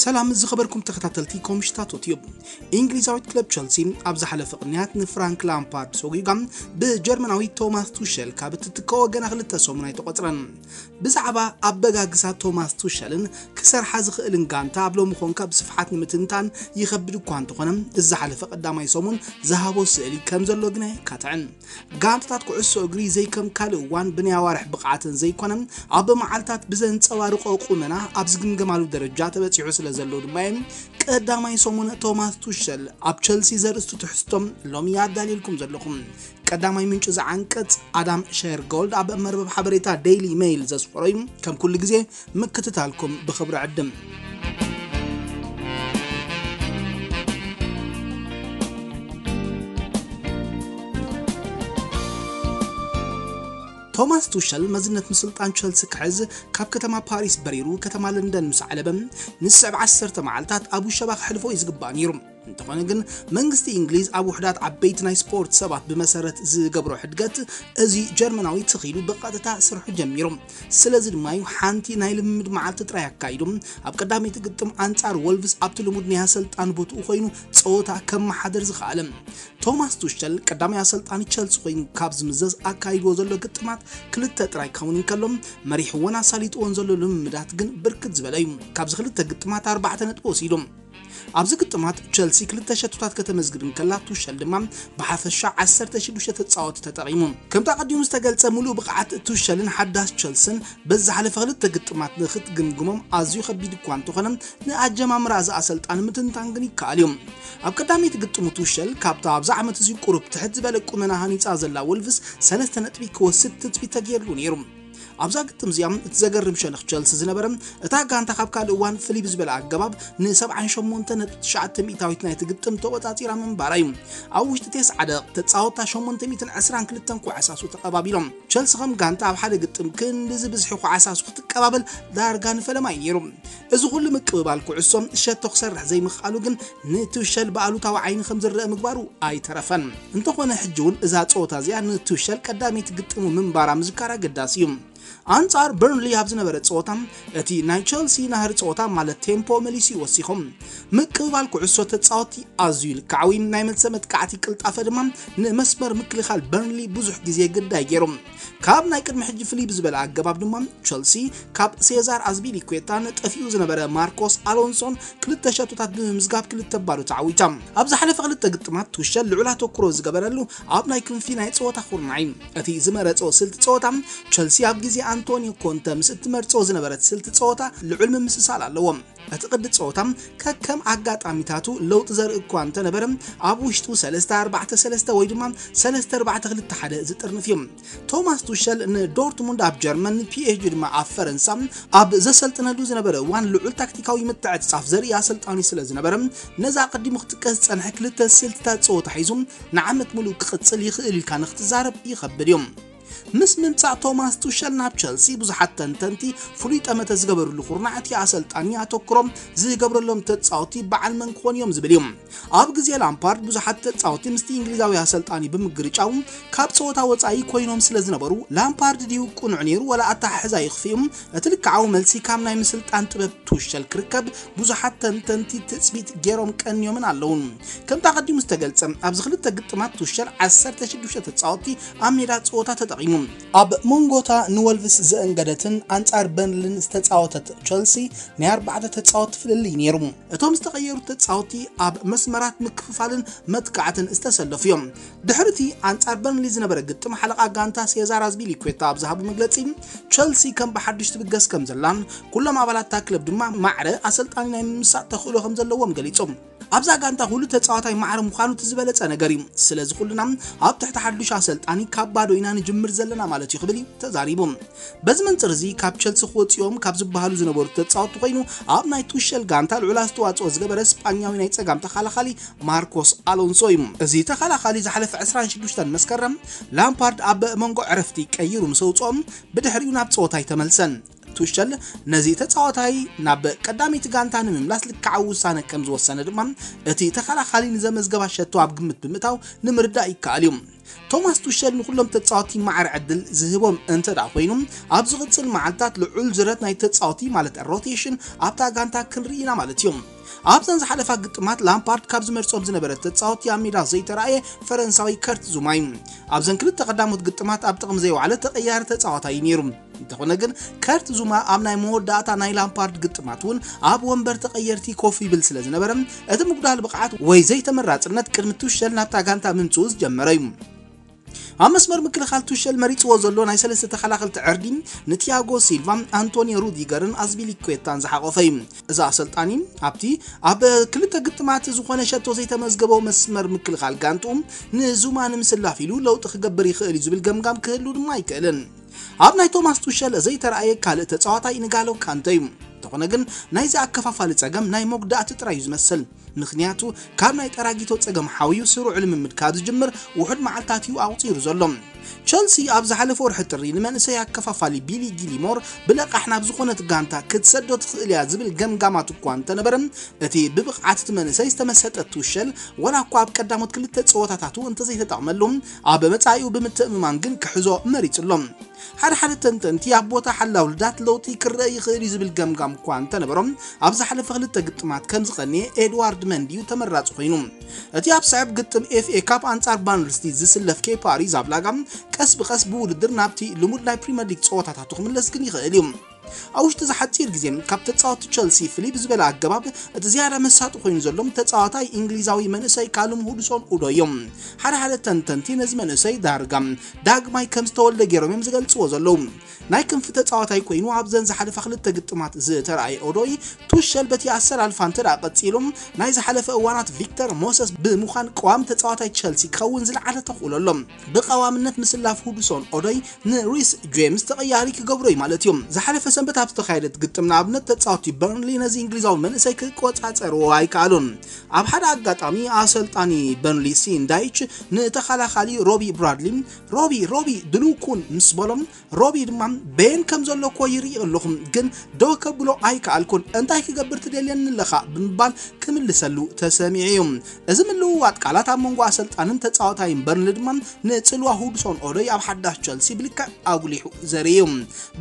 ሰላም ዝኸበርኩም ተኸታተልቲ ኮምሽታቶት እዩ። እንግሊዛዊት ክለብ ቸልሲ ኣብ ዝሓለፈ ቅንያት ንፍራንክ ላምፓርድ ሰጒጋ ብጀርመናዊ ቶማስ ቱሸል ካብ እትትከ ወገና ክልተ ሰሙን ኣይተቖጽረን። ብዛዕባ ኣበጋግሳ ቶማስ ቱሸልን ክሰርሓ ዝኽእልን ጋንታ ኣብ ሎሚ ኮንካ ብስፍሓት ንምትንታን ይኸብድ እኳ እንተኾነ፣ ዝሓለፈ ቀዳማይ ሰሙን ዝሃቦ ስእሊ ከም ዘሎ ግና የካትዕን። ጋንታታት ኩዕሶ እግሪ ዘይከም ካልእ እዋን ብናይ ኣዋርሕ ብቕዓትን ዘይኮነ ኣብ መዓልታት ብዘንጸባርቆ ቁመና ኣብ ዝግምገማሉ ደረጃ ተበጺሑ ስለ ዘሎ ድማ እየ ቀዳማይ ሰሙን ቶማስ ቱሸል ኣብ ቸልሲ ዘርእስቱ ትሕዝቶም ሎሚ ኣዳልየልኩም ዘለኹም። ቀዳማይ ምንጪ ዝዓንቀጽ ኣዳም ሸርጎልድ ኣብ መርበብ ሓበሬታ ዴይሊ ሜይል ዘስፈሮ እዩ። ከም ኩሉ ግዜ ምክትታልኩም ብኽብሪ ዕድም። ቶማስ ቱሸል መዝነት ምስልጣን ቸልሲ ክሕዝ ካብ ከተማ ፓሪስ በሪሩ ከተማ ለንደን ምስ ዓለበ ንስዕብ ዓሰርተ መዓልታት ኣብ ውሸባ ክሕልፎ እዩ ዝግባእ ነይሩ። እንተኾነ ግን መንግስቲ እንግሊዝ ኣብ ውሕዳት ዓበይቲ ናይ ስፖርት ሰባት ብመሰረት ዝገብሮ ሕድገት እዚ ጀርመናዊ ትኺሉ ብቐጥታ ስርሑ ጀሚሩ። ስለዚ ድማ እዩ ሓንቲ ናይ ልምምድ መዓልቲ ጥራይ ኣካይዱ ኣብ ቀዳመይቲ ግጥም ኣንጻር ወልቭስ ኣብቲ ልሙድ ናይ ኣሰልጣን ቦትኡ ኮይኑ ጸወታ ከመሓደር ዝኸኣለ። ቶማስ ቱሸል ቀዳማይ ኣሰልጣኒ ቸልሲ ኮይኑ ካብ ዝምዘዝ ኣካይድዎ ዘሎ ግጥማት ክልተ ጥራይ ክኸውን እንከሎ መሪሕዎን ኣሳሊጥዎን ዘሎ ልምምዳት ግን ብርክት ዝበለ እዩ። ካብዚ ክልተ ግጥማት ኣርባዕተ ነጥቢ ወሲዱ። ኣብዚ ግጥማት ቸልሲ ክልተ ሸቶታት ከተመዝግብ እንከላ ቱሸል ድማ ብሓፈሻ ዓሰርተ ሽዱሽተ ተጻወቲ ተጠቒሙ። ከምቲ ኣቐዲሙ ዝተገልጸ ምሉእ ብቕዓት ቱሸልን ሓዳስ ቸልስን በዚ ዝሓለፈ ክልተ ግጥማት ንኽትግምግሞም ኣዝዩ ከቢድ እኳ እንተኾነ ንኣጀማምራ እዚ ኣሰልጣኒ ምትንታን ግን ይከኣል እዩ። ኣብ ቀዳመይቲ ግጥሙ ቱሸል ካብታ ኣብዚ ዓመት እዚ ቁሩብ ትሕት ዝበለ ቁመና ሃኒጻ ዘላ ወልቭስ ሰለስተ ነጥቢ ክወስድ ትጽቢት ተገይርሉ ነይሩ። ኣብዛ ግጥም እዚኣ እቲ ዘገርም ሸነኽ ቸልሲ ዝነበረ እታ ጋንታ ካብ ካልእ እዋን ፍልይ ብዝበለ ኣገባብ ን ሰብዓን ሸሞንተ ነጥቢ ትሽዓተ ሚእታዊት ናይቲ ግጥም ተቖጻጺራ ምንባራ እዩ። ኣብ ውሽጢ ተስዓ ደቂቕ ተጻወትታ ሸሞንተ ሚእትን ዕስራን ክልተን ኩዕሳሱ ተቐባቢሎም። ቸልሲ ከም ጋንታ ኣብ ሓደ ግጥም ክንድዚ ብዝሒ ኩዕሳሱ ክትቀባበል ዳርጋ ንፈለማ እዩ ነይሩ። እዚ ኩሉ ምቅብባል ኩዕሶ ሸቶ ክሰርሕ ዘይምኽኣሉ ግን ንቱሸል ብኣሉታዊ ዓይኒ ከም ዝረአ ምግባሩ ኣይተረፈን። እንተኾነ ሕጂ እውን እዛ ጸወታ እዚኣ ንቱሸል ቀዳመይቲ ግጥሙ ምንባራ ምዝካር ኣገዳሲ እዩ። ኣንጻር በርንሊ ኣብ ዝነበረ ጸወታ እቲ ናይ ቸልሲ ናህሪ ጸወታ ማለት ቴምፖ መሊሱ ይወሲኹም። ምቅብባል ኩዕሶ ተጻወቲ ኣዝዩ ልክዓዊ፣ ናይ መልሰ መጥቃዕቲ ቅልጣፈ ድማ ንመስመር ምክልኻል በርንሊ ብዙሕ ግዜ ግዳይ ገይሩ። ካብ ናይ ቅድሚ ሕጂ ፍልይ ብዝበለ ኣገባብ ድማ ቸልሲ ካብ ሴዛር ኣዝፒሊኩዌታን ጠፊኡ ዝነበረ ማርኮስ ኣሎንሶን ክልተ ሸቶታት ብምምዝጋብ ክልተ ባዶ ተዓዊታ። ኣብ ዝሓለፈ ክልተ ግጥማት ቱሸል ልዑል ኣተኩሮ ዝገበረሉ ኣብ ናይ ክንፊ ናይ ጸወታ ኩርናዕ እዩ። እቲ ዝመረጾ ስልቲ ጸወታ ቸልሲ ኣብ ግዜ ኣንቶኒዮ ኮንተ ምስ እትመርጾ ዝነበረት ስልቲ ጸወታ ልዑል ምምስሳል ኣለዎ። እቲ ቅዲ ጸወታ ከከም ኣጋጣሚታቱ ለውጢ ዘርኢ እኳ እንተነበረ ኣብ ውሽጡ ሰለስተ ኣርባዕተ ሰለስተ ወይ ድማ ሰለስተ ኣርባዕተ ክልተ ሓደ ዝጥርንፍ እዩ። ቶማስ ቱሸል ንዶርትሙንድ ኣብ ጀርመን ንፒኤስጂ ድማ ኣብ ፈረንሳ ኣብ ዘሰልጥነሉ ዝነበረ እዋን ልዑል ታክቲካዊ ምትዕጽጻፍ ዘርኢ ኣሰልጣኒ ስለ ዝነበረ ነዛ ኣቐዲሙ ክጥቀስ ዝጸንሐ ክልተ ስልትታት ጸወታ ሒዙ ንዓመት ምሉእ ክቕጽል ይኽእል ኢልካ ንክትዛረብ ይኸብድ እዩ። ምስ ምምጻእ ቶማስ ቱሸል ናብ ቸልሲ ብዙሓት ተንተንቲ ፍሉይ ጠመተ ዝገበርሉ ኩርናዕ እቲ ኣሰልጣኒ ኣተኩሮም ዝገብረሎም ተጻወቲ በዓል መን ክኾኑ እዮም ዝብል እዩ። ኣብ ግዜ ላምፓርድ ብዙሓት ተጻወቲ ምስቲ እንግሊዛዊ ኣሰልጣኒ ብምግርጫው ካብ ጸወታ ወጻኢ ኮይኖም ስለ ዝነበሩ ላምፓርድ ድዩ ቅኑዕ ነይሩ ወላ ኣተሓሕዛ ይኽፍእ እዩ? እቲ ልክዓዊ መልሲ ካብ ናይ ምስልጣን ጥበብ ቱሸል ክርከብ ብዙሓት ተንተንቲ ትጽቢት ገይሮም ቀንዮምን ኣለውን። ከምቲ ኣቐዲሙ ዝተገልጸ ኣብዚ ክልተ ግጥማት ቱሸል ዓሰርተ ሽዱሽተ ተጻወቲ ኣብ ሜዳ ጸወታ ተጠቒሙ። ኣብ መንጎታ ንወልቭስ ዘእንገደትን ኣንጻር በርንልን ዝተጻወተት ቸልሲ ናይ ኣርባዕተ ተጻወቲ ፍልልይ ነይሩ። እቶም ዝተቐየሩ ተጻወቲ ኣብ መስመራት ምክፍፋልን መጥቃዕትን ዝተሰለፉ እዮም። ድሕሪ እቲ ኣንጻር በርንሊ ዝነበረ ግጥም ሓለቓ ጋንታ ሴዛር ኣዝፒሊኩዌታ ኣብ ዝሃቡ መግለጺ ቸልሲ ከም ብሓድሽ ትብገስ ከም ዘላን ኩሎም ኣባላት እታ ክለብ ድማ ማዕረ ኣሰልጣኒ ናይ ምምሳጥ ተኽእሎ ከም ዘለዎም ገሊጾም። ኣብዛ ጋንታ ኩሉ ተጻዋታይ ማዕረ ምዃኑ እቲ ዝበለጸ ነገር እዩ። ስለዚ ኩልና ኣብ ትሕቲ ሓዱሽ ኣሰልጣኒ ካብ ባዶ ኢና ንጅምር ዘለና ማለት እዩ ክብል እዩ ተዛሪቡ። በዚ መንጽር እዚ ካብ ቸልሲ ክወጽኦም ካብ ዝበሃሉ ዝነበሩ ተጻወትቲ ኮይኑ ኣብ ናይ ቱሸል ጋንታ ልዑል ኣስተዋጽኦ ዝገበረ ስጳኛዊ ናይ ጸጋም ተኸላኻሊ ማርኮስ ኣሎንሶ እዩ። እዚ ተኸላኻሊ ዝሓለፈ ዕስራን ሽዱሽተን መስከረም ላምፓርድ ኣብ መንጎ ዕረፍቲ ቀይሩ ምስ ኣውጽኦም ብድሕሪኡ ናብ ጸወታ ኣይተመልሰን። ቱሸል ነዚ ተጻዋታይ ናብ ቀዳመይቲ ጋንታ ንምምላስ ልክዓዊ ውሳነ ከም ዝወሰነ ድማ እቲ ተኸላኻሊ ንዘመዝገባ ሸቶ ኣብ ግምት ብምእታው ንምርዳእ ይከኣል እዩ። ቶማስ ቱሸል ንኩሎም ተጻወቲ ማዕረ ዕድል ዝህቦም እንተ ደኣ ኮይኑ፣ ኣብ ዝቕጽል መዓልታት ልዑል ዝረት ናይ ተጻወቲ ማለት ሮቴሽን ኣብታ ጋንታ ክንርኢ ኢና ማለት እዩ። ኣብዘን ዝሓለፋ ግጥማት ላምፓርድ ካብ ዝመርጾም ዝነበረ ተጻወቲ ኣብ ሜዳ ዘይተራእየ ፈረንሳዊ ከርት ዙማ እዩ። ኣብዘን ክልተ ቀዳሞት ግጥማት ኣብ ጥቕሚ ዘይወዓለ ተቐያሪ ተጻዋታይ እዩ ነይሩ። እንተኾነ ግን ከርት ዙማ ኣብ ናይ መወዳእታ ናይ ላምፓርድ ግጥማት እውን ኣብ ወንበር ተቐየርቲ ኮፍ ይብል ስለ ዝነበረ እቲ ምጉዳል ብቕዓት ወይ ዘይተመራጽነት ቅድሚ ቱሸል ናብታ ጋንታ ምምጽኡ ዝጀመረ እዩ። ኣብ መስመር ምክልኻል ቱሸል መሪጽዎ ዘሎ ናይ ሰለስተ ተኸላኸልቲ ዕርዲ ንቲያጎ ሲልቫ፣ ኣንቶኒዮ ሩዲገርን ኣዝፒሊኩዌታን ዝሓቆፈ እዩ። እዚ ኣሰልጣኒ ኣብቲ ኣብ ክልተ ግጥማት ዝኾነ ሸቶ ዘይተመዝገበ መስመር ምክልኻል ጋንትኡ ንዙማ ንምስላፍ ኢሉ ለውጢ ክገብር ይኽእል እዩ ዝብል ገምጋም ክህሉ ድማ ኣይክእልን። ኣብ ናይ ቶማስ ቱሸል ዘይተራእየ ካልእ ተጻዋታይ ንጋሎ ካንተ እዩ። እንተኾነ ግን ናይዚ ኣከፋፋሊ ጸገም ናይ መጉዳእቲ ጥራይ እዩ ዝመስል። ምኽንያቱ ካብ ናይ ጠራጊቶ ጸገም ሓውዩ ስሩዕ ልምምድ ካብ ዝጅምር ውሑድ መዓልታት እዩ ኣቑጺሩ ዘሎ። ቸልሲ ኣብ ዝሓለፈ ወርሒ ጥሪ ንመንእሰይ ኣከፋፋሊ ቢሊ ጊልሞር ብለቓሕ ናብ ዝኾነት ጋንታ ክትሰዶ ትኽእል እያ ዝብል ገምጋማት እኳ እንተነበረ፣ እቲ ብብቕዓት እቲ መንእሰይ ዝተመሰጠ ቱሸል ዋላ እኳ ኣብ ቀዳሞት ክልተ ጸወታታቱ እንተዘይተጠቕመሉ፣ ኣብ መጻኢኡ ብምትእምማን ግን ክሕዞ መሪጹ ኣሎ። ሓደ ሓደ ተንተንቲ ኣብ ቦታ ሓላው ልዳት ለውጢ ክረአ ይኽእል እዩ ዝብል ገምጋም እኳ እንተነበሮም፣ ኣብ ዝሓለፈ ክልተ ግጥማት ከም ዝቐንየ ኤድዋርድ መንዲ እዩ ተመራጺ ኮይኑ። እቲ ኣብ ስዕብ ግጥም ኤፍኤ ካፕ ኣንጻር ባንልስቲ ዝስለፍ ኬፓ ኣሪዛብላጋ ቀስ ብቐስ ብውድድር ናብቲ ልሙድ ናይ ፕሪምየር ሊግ ጸወታታቱ ክምለስ ግን ይኽእል እዩ። ኣብ ውሽጢ እዚ ሓጺር ግዜ ካብ ተጻወቲ ቸልሲ ፍልይ ብዝበለ ኣገባብ እቲ ዝያዳ መሳጢ ኮይኑ ዘሎ ተጻዋታይ እንግሊዛዊ መንእሰይ ካሉም ሁድሶን ኡዶይ እዮም። ሓደ ሓደ ተንተንቲ ነዚ መንእሰይ ዳርጋ ዳግማይ ከም ዝተወልደ ገይሮም እዮም ዝገልጽዎ ዘለዉ። ናይ ክንፊ ተጻዋታይ ኮይኑ ኣብዘን ዝሓለፋ ክልተ ግጥማት ዝተረኣየ ኦዶይ ቱሸል በቲ ኣሰላልፋ እንተ ደኣ ቀጺሉ ናይ ዝሓለፈ እዋናት ቪክተር ሞሰስ ብምዃን ቀዋሚ ተጻዋታይ ቸልሲ ክኸውን ዝለዓለ ተኽእሎ ኣሎ። ብቐዋምነት ምስላፍ ሁድሶን ኦዶይ ንሪስ ጄምስ ተቐያሪ ክገብሮ እዩ ማለት እዩ። ዝሓለፈ ሰንበት ኣብ ዝተኻየደት ግጥም ንኣብነት ተጻወቲ በርንሊ ነዚ እንግሊዛዊ መንእሰይ ክቆጻጸርዎ ኣይከኣሉን። ኣብ ሓደ ኣጋጣሚ ኣሰልጣኒ በርንሊ ሲን ዳይች ንተኸላኻሊ ሮቢ ብራድሊ ሮቢ ሮቢ ድሉው ኩን ምስ በሎም ሮቢ ድማ በየን ከም ዘሎ እኮ ይርኢ ኣለኹ ግን ደው ከብሎ ኣይከኣልኩን እንታይ ክገብር ትደልየኒ ኣለኻ ብምባል ክምልሰሉ ተሰሚዑ እዩ። እዚ ምልውዋጥ ቃላት ኣብ መንጎ ኣሰልጣንን ተጻዋታይን በርንሊ ድማ ንጽልዋ ሁድሶን ኦዶይ ኣብ ሓዳሽ ቸልሲ ብልክዕ ኣጉሊሑ ዘርኢ እዩ።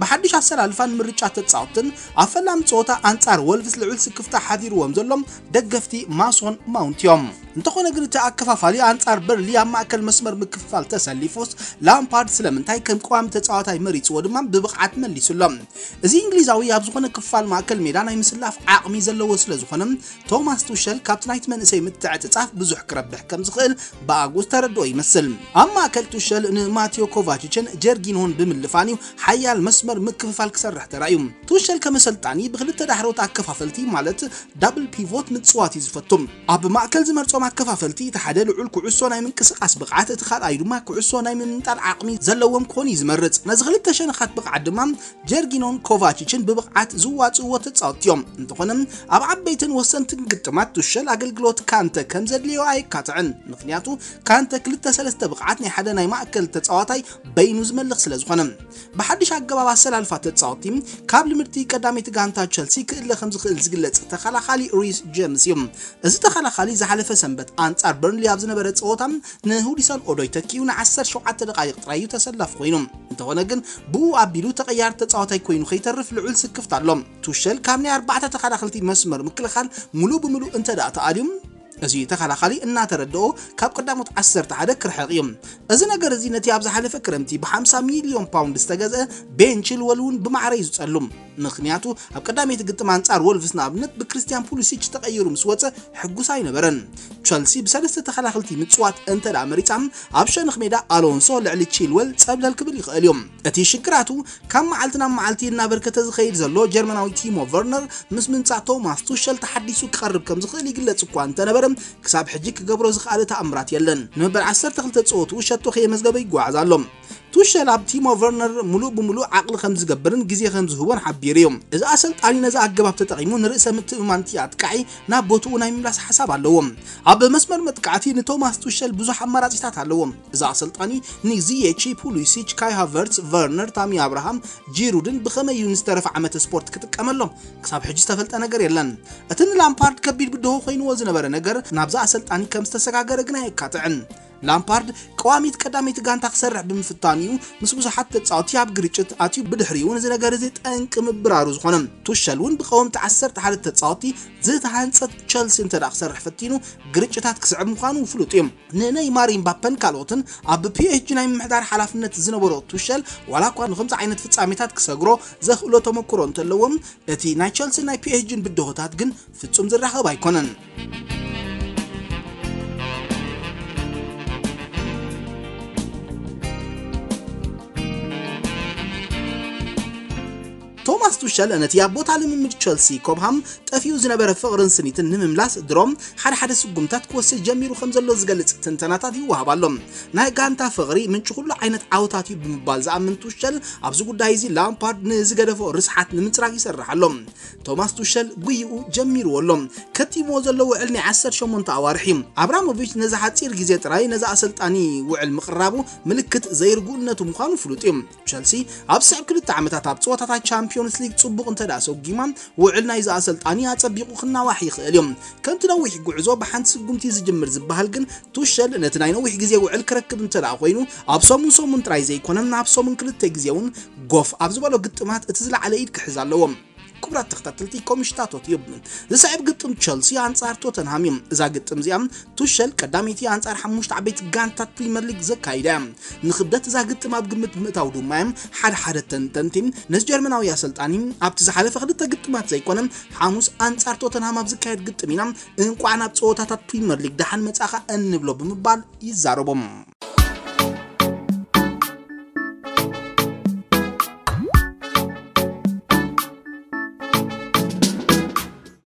ብሓድሽ ኣሰላልፋን ምርጫ ተጻወትን ኣብ ፈላሚ ጸወታ ኣንጻር ወልቭስ ልዑል ስክፍታ ሓዲርዎም ዘሎ ደገፍቲ ማሶን ማውንት እዮም። እንተኾነ ግን እቲ ኣከፋፋሊ ኣንጻር በርንሊ ኣብ ማእከል መስመር ምክፍፋል ተሰሊፉስ ላምፓርድ ስለምንታይ ከም ቀዋሚ ተጻዋታይ መሪጽዎ ድማ ብብቕዓት መሊሱ ኣሎ። እዚ እንግሊዛዊ ኣብ ዝኾነ ክፋል ማእከል ሜዳ ናይ ምስላፍ ዓቕሚ ዘለዎ ስለ ዝኾነ ቶማስ ቱሸል ካብቲ ናይቲ መንእሰይ ምትዕጽጻፍ ብዙሕ ክረብሕ ከም ዝኽእል ብኣጉስ ተረድኦ ይመስል። ኣብ ማእከል ቱሸል ንማቴዮ ኮቫችችን ጀርጊኖን ብምልፋን እዩ ሓያል መስመር ምክፍፋል ክሰርሕ ተራእዩ። ቱሸል ከም ኣሰልጣኒ ብክልተ ዳሕሮት ኣከፋፈልቲ ማለት ዳብል ፒቮት ምጽዋት እዩ ዝፈቱ። ኣብ ማእከል ዝመርጾም ኣከፋፈልቲ እቲ ሓደ ልዑል ኩዕሶ ናይ ምንቅስቓስ ብቕዓት፣ እቲ ካልኣዩ ድማ ኩዕሶ ናይ ምምንጣል ዓቕሚ ዘለዎም ክኾኑ እዩ ዝመርጽ። ነዚ ክልተ ሸነኻት ብቕዓት ድማ ጀርጊኖን ኮቫችችን ብብቕዓት ዝዋጽእዎ ተጻወትቲ እዮም። እንተኾነ ኣብ ዓበይትን ወሰንትን ግጥማት ቱሸል ኣገልግሎት ካንተ ከም ዘድልዮ ኣየካትዕን። ምኽንያቱ ካንተ ክልተ ሰለስተ ብቕዓት ናይ ሓደ ናይ ማእከል ተጻዋታይ በይኑ ዝመልኽ ስለ ዝኾነ። ብሓድሽ ኣገባብ ኣሰላልፋ ተጻወትቲ ካብ ልምድቲ ቀዳመይቲ ጋንታ ቸልሲ ክእለ ከም ዝኽእል ዝግለጽ ተኸላኻሊ ሪስ ጀምስ እዩ። እዚ ተኸላኻሊ ዝሓለፈ ሰንበት ኣንጻር በርንሊ ኣብ ዝነበረ ጸወታ ንሁዲሰን ኦዶይ ተኪኡ ን ዓሰርተ ሸውዓተ ደቓይቕ ጥራይ እዩ ተሰላፊ ኮይኑ። እንተኾነ ግን ብኡ ኣቢሉ ተቐያሪ ተጻዋታይ ኮይኑ ከይተርፍ ልዑል ስክፍታ ኣሎ። ቱሸል ካብ ናይ ኣርባዕተ ተኸላኸልቲ መስመር ምክልኻል ሙሉእ ብሙሉእ እንተ ደኣ ተኣልዩ፣ እዚ ተኸላኻሊ እናተረድኦ ካብ ቀዳሞት ዓሰርተ ሓደ ክርሕቕ እዩ። እዚ ነገር እዚ ነቲ ኣብ ዝሓለፈ ክረምቲ ብ ሓምሳ ሚልዮን ፓውንድ ዝተገዝአ ቤን ቺልወል እውን ብማዕረ እዩ ዝጸሉ። ምኽንያቱ ኣብ ቀዳመይቲ ግጥም ኣንጻር ወልቭስ ንኣብነት ብክሪስትያን ፑሊሲች ተቐይሩ ምስ ወጸ ሕጉስ ኣይነበረን። ቸልሲ ብሰለስተ ተኸላኸልቲ ምጽዋት እንተ ደኣ መሪጻ ኣብ ሸነኽ ሜዳ ኣሎንሶ ልዕሊ ቺልወል ጸብለል ክብል ይኽእል እዩ። እቲ ሽግራቱ ካብ መዓልቲ ናብ መዓልቲ እናበርከተ ዝኸይድ ዘሎ ጀርመናዊ ቲሞ ቨርነር ምስ ምምጻእ ቶማስ ቱሸል ተሓዲሱ ክቐርብ ከም ዝኽእል ይግለጽ እኳ እንተነበረ ክሳብ ሕጂ ክገብሮ ዝኸኣለ ተኣምራት የለን። ንመበል ዓሰርተ ክልተ ጸወትኡ ሸቶ ከየመዝገበ ይጓዓዝ ኣሎ። ቱሸል ኣብ ቲሞ ቨርነር ሙሉእ ብሙሉእ ዓቕሊ ከም ዝገብርን ግዜ ከም ዝህቦን ሓቢሩ እዩ። እዚ ኣሰልጣኒ ነዚ ኣገባብ ተጠቒሙ ንርእሰ ምትእምማን እቲ ኣጥቃዒ ናብ ቦትኡ ናይ ምምላስ ሓሳብ ኣለዎ። ኣብ መስመር መጥቃዕቲ ንቶማስ ቱሸል ብዙሕ ኣማራጺታት ኣለዎ። እዚ ኣሰልጣኒ ንዚየቺ፣ ፑሊሲች፣ ካይ ሃቨርትስ፣ ቨርነር፣ ታሚ ኣብርሃም፣ ጂሩድን ብኸመይ እዩ ንዝተረፈ ዓመተ ስፖርት ክጥቀመሎም? ክሳብ ሕጂ ዝተፈልጠ ነገር የለን። እቲ ንላምፓርድ ከቢድ ብድሆ ኮይንዎ ዝነበረ ነገር ናብዛ ኣሰልጣኒ ከም ዝተሰጋገረ ግና ኣየካትዕን። ላምፓርድ ቀዋሚት ቀዳመይቲ ጋንታ ክሰርሕ ብምፍታኑ እዩ ምስ ብዙሓት ተጻወትቲ ኣብ ግርጭት ኣትዩ፣ ብድሕሪኡ ነዚ ነገር እዚ ጠንቂ ምብራሩ ዝኾነ። ቱሸል እውን ብቀወምቲ ዓሰርተ ሓደ ተጻወትቲ ዝተሃንጸት ቸልሲ እንተ ደኣ ክሰርሕ ፈቲኑ ግርጭታት ክስዕብ ምዃኑ ፍሉጥ እዩ። ንነይማር፣ ኢምባፐን ካልኦትን ኣብ ፒኤስጂ ናይ ምምሕዳር ሓላፍነት ዝነበሮ ቱሸል ዋላ እኳ ንኸምዚ ዓይነት ፍጻሜታት ክሰግሮ ዘኽእሎ ተመክሮ እንተለዎም፣ እቲ ናይ ቸልሲ ናይ ፒኤስጂን ብድሆታት ግን ፍጹም ዝራኸብ ኣይኮነን። ቶማስ ቱሸል ነቲ ኣብ ቦታ ልምምድ ቸልሲ ኮብሃም ጠፊኡ ዝነበረ ፍቕርን ስኒትን ንምምላስ ድሮም ሓደ ሓደ ስጉምታት ክወስድ ጀሚሩ ከም ዘሎ ዝገልጽ ትንተናታት ይወሃብ ኣሎ። ናይ ጋንታ ፍቕሪ ምንጪ ኩሉ ዓይነት ዓወታት እዩ ብምባል ዝኣምን ቱሸል፣ ኣብዚ ጉዳይ እዚ ላምፓርድ ንዝገደፎ ርስሓት ንምጽራግ ይሰርሕ ኣሎ። ቶማስ ቱሸል ጉይኡ ጀሚርዎ ኣሎ። ከቲምዎ ዘሎ ውዕል ናይ ዓሰርተ ሸሞንተ ኣዋርሕ እዩ። ኣብራሞቪች ነዚ ሓጺር ግዜ ጥራይ ነዚ ኣሰልጣኒ ውዕል ምቕራቡ ምልክት ዘይርጉእነቱ ምዃኑ ፍሉጥ እዩ። ቸልሲ ኣብ ዝስዕብ ክልተ ዓመታት ኣብ ጸወታታት ቻምፒዮንስ ሊግ ጽቡቕ እንተ ደኣ ሰጒማ፣ ውዕል ናይዚ ኣሰልጣኒ ኣጸቢቑ ክናዋሕ ይኽእል እዩ። ከምቲ ነዊሕ ጉዕዞ ብሓንቲ ስጉምቲ ዝጅምር ዝበሃል ግን፣ ቱሸል ነቲ ናይ ነዊሕ ግዜ ውዕል ክረክብ እንተ ደኣ ኮይኑ፣ ኣብ ሰሙን ሰሙን ጥራይ ዘይኮነ፣ ኣብ ሰሙን ክልተ ግዜ እውን ጎፍ ኣብ ዝበሎ ግጥማት እቲ ዝለዓለ ኢድ ክሕዝ ኣለዎ። ክቡራት ተኸታተልቲ ኮምሽታቶት እዩ። ዝስዕብ ግጥም ቸልሲ ኣንጻር ቶተንሃም እዩ። እዛ ግጥም እዚኣ ቱሸል ቀዳመይቲ ኣንጻር ሓሙሽተ ዓበይቲ ጋንታት ፕሪምየር ሊግ ዘካይዳ እያ። ንክብደት እዛ ግጥም ኣብ ግምት ብምእታው ድማ እዮም ሓደ ሓደ ተንተንቲ ነዚ ጀርመናዊ ኣሰልጣኒ ኣብቲ ዝሓለፈ ክልተ ግጥማት ዘይኮነ ሓሙስ ኣንጻር ቶተንሃም ኣብ ዝካየድ ግጥም ኢና እንቋዕ ናብ ጸወታታት ፕሪምየር ሊግ ደሓን መጻኻ እንብሎ ብምባል ይዛረቦም።